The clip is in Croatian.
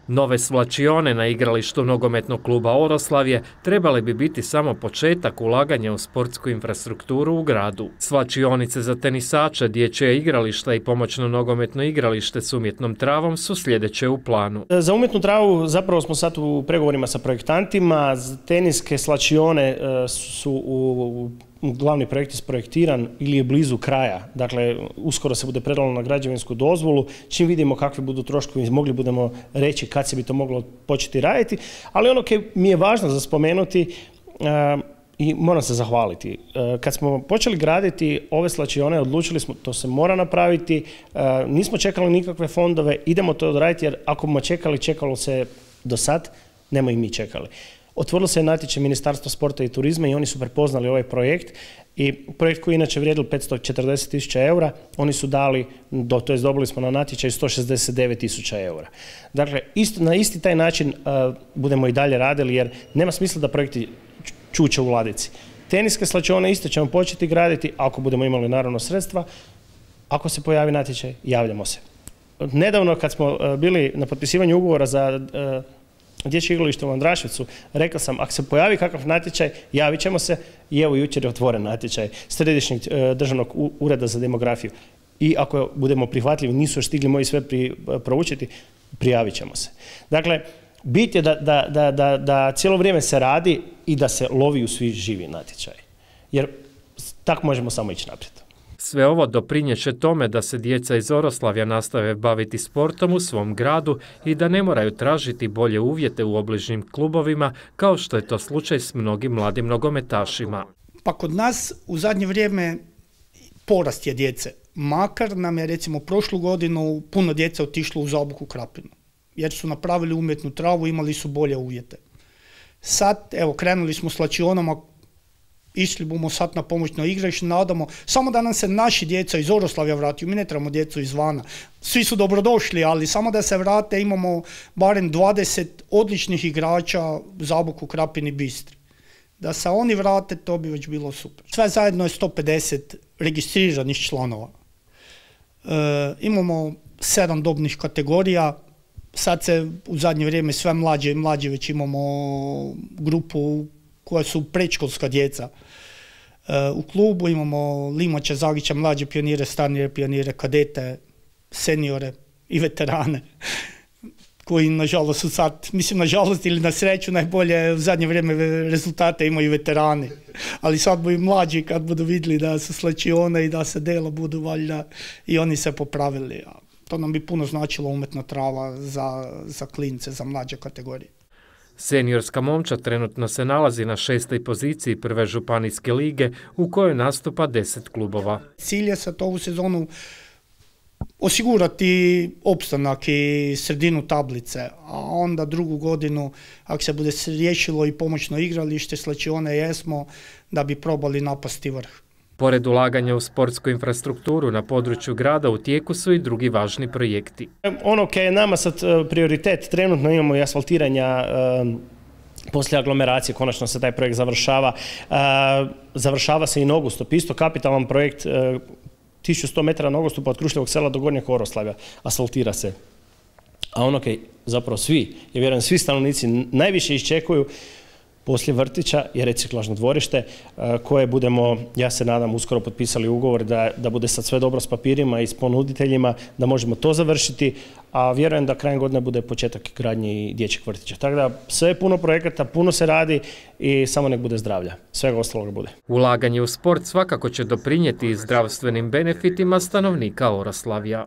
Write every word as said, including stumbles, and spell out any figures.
Nove svlačione na igralištu nogometnog kluba Oroslavje trebali bi biti samo početak ulaganja u sportsku infrastrukturu u gradu. Svlačionice za tenisače, dječje igrališta i pomoćno nogometno igralište s umjetnom travom su sljedeće u planu. Za umjetnu travu zapravo smo sad u pregovorima sa projektantima. Teniske svlačione su u glavni projekt isprojektiran ili je blizu kraja. Dakle, uskoro se bude predalo na građevinsku dozvolu. Čim vidimo kakvi budu troškovi, mogli budemo reći kad se bi to moglo početi raditi. Ali ono koje mi je važno za spomenuti i moram se zahvaliti. Kad smo počeli graditi ove svlačione, odlučili smo to se mora napraviti. Nismo čekali nikakve fondove, idemo to odraditi jer ako smo čekali, čekalo se do sad, nemo i mi čekali. Otvorilo se natječaj Ministarstva sporta i turizma i oni su prepoznali ovaj projekt i projekt koji inače vrijedil petsto četrdeset tisuća eura, oni su dali, do, to jest dobili smo na natječaj sto šezdeset devet tisuća eura. Dakle, isto, na isti taj način uh, budemo i dalje radili jer nema smisla da projekti čuče u ladici. Teniske svlačione isto ćemo početi graditi ako budemo imali naravno sredstva. Ako se pojavi natječaj, javljamo se. Nedavno kad smo uh, bili na potpisivanju ugovora za uh, dječje igralište u Andraševcu, rekao sam, ako se pojavi kakav natječaj, javit ćemo se i evo jučer je otvoren natječaj Središnjeg državnog ureda za demografiju. I ako budemo prihvatljivi, nisu još stigli moji sve pri, proučiti, prijavit ćemo se. Dakle, bit je da, da, da, da, da cijelo vrijeme se radi i da se lovi u svi živi natječaj. Jer tako možemo samo ići naprijed. Sve ovo doprinjeće tome da se djeca iz Oroslavja nastave baviti sportom u svom gradu i da ne moraju tražiti bolje uvjete u obližnjim klubovima, kao što je to slučaj s mnogim mladim nogometašima. Pa kod nas u zadnje vrijeme porast je djece. Makar nam je recimo prošlu godinu puno djece otišlo u Zabuku Krapinu, jer su napravili umjetnu travu, imali su bolje uvjete. Sad, evo, krenuli smo s svlačionama, išli bomo sad na pomoćno igralište, nadamo, samo da nam se naši djeca iz Oroslavja vrati, mi ne trebamo djecu izvana. Svi su dobrodošli, ali samo da se vrate, imamo barem dvadeset odličnih igrača Zaboku, Krapini, Bistri. Da se oni vrate, to bi već bilo super. Sve zajedno je sto pedeset registriranih članova. E, imamo sedam dobnih kategorija, sad se u zadnje vrijeme sve mlađe i mlađe već imamo grupu koja su predškolska djeca. U klubu imamo Limača, Zagića, mlađe pionire, starije pionire, kadete, seniore i veterane, koji nažalost su sad, mislim nažalost ili na sreću, najbolje u zadnje vrijeme rezultate imaju veterani. Ali sad bi mlađi kad budu vidjeli da su svlačione i da se dela budu valjda i oni se popravili. To nam bi puno značilo umjetna trava za, za klince, za mlađe kategorije. Seniorska momčad trenutno se nalazi na šestoj poziciji prve županijske lige u kojoj nastupa deset klubova. Cilj je sad ovu sezonu osigurati opstanak i sredinu tablice, a onda drugu godinu, ako se bude riješilo i pomoćno igralište, svlačione jesmo, da bi probali napasti vrh. Pored ulaganja u sportsku infrastrukturu na području grada u tijeku su i drugi važni projekti. Ono koje je nama sad prioritet, trenutno imamo i asfaltiranja um, poslije aglomeracije, konačno se taj projekt završava. Uh, završava se i nogostup, isto kapitalan projekt, uh, tisuću sto metara nogostupa od Krušljevog sela do Gornjeg Oroslavja, asfaltira se. A ono koje zapravo svi, ja vjerujem svi stanovnici najviše iščekuju, poslije vrtića je reciklažno dvorište koje budemo, ja se nadam, uskoro potpisali ugovor da, da bude sad sve dobro s papirima i s ponuditeljima, da možemo to završiti, a vjerujem da krajem godine bude početak gradnje i dječjeg vrtića. Tako da sve je puno projekata, puno se radi i samo nek bude zdravlja. Svega ostaloga bude. Ulaganje u sport svakako će doprinijeti zdravstvenim benefitima stanovnika Oroslavja.